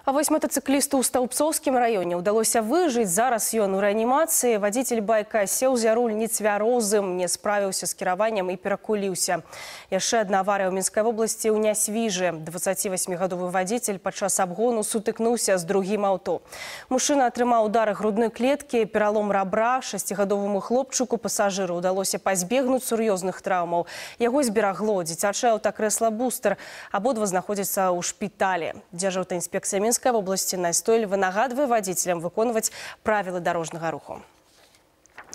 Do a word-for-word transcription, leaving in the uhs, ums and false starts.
А вось мотоциклисту ў Стаўбцоўскім раёне ўдалося выжыць. Зараз ён у рэанімацыі. Вадзіцель байка сеў за руль нецвярозым, не справіўся з кіраваннем і перакуліўся. Яшчэ адна аварыя ў Мінскай вобласці ў Нясвіжы. дваццацівасьмігадовы вадзіцель падчас абгону сутыкнуўся з другім аўто. Мужчына атрымаў удары грудной клеткі, пералом рабра. Шасцігадоваму хлопчыку пасажыру ўдалося пазбегнуць сур'ёзных траўмаў. Яго зберагло дзіцячае аўтакрэсла «Бустер». Абодва знаходзяцца ў шпіталі. Дзяржаўная інспекцыя Мінскай вобласці настойліва нагадвае вадзіцелям выконваць правілы дарожнага руху.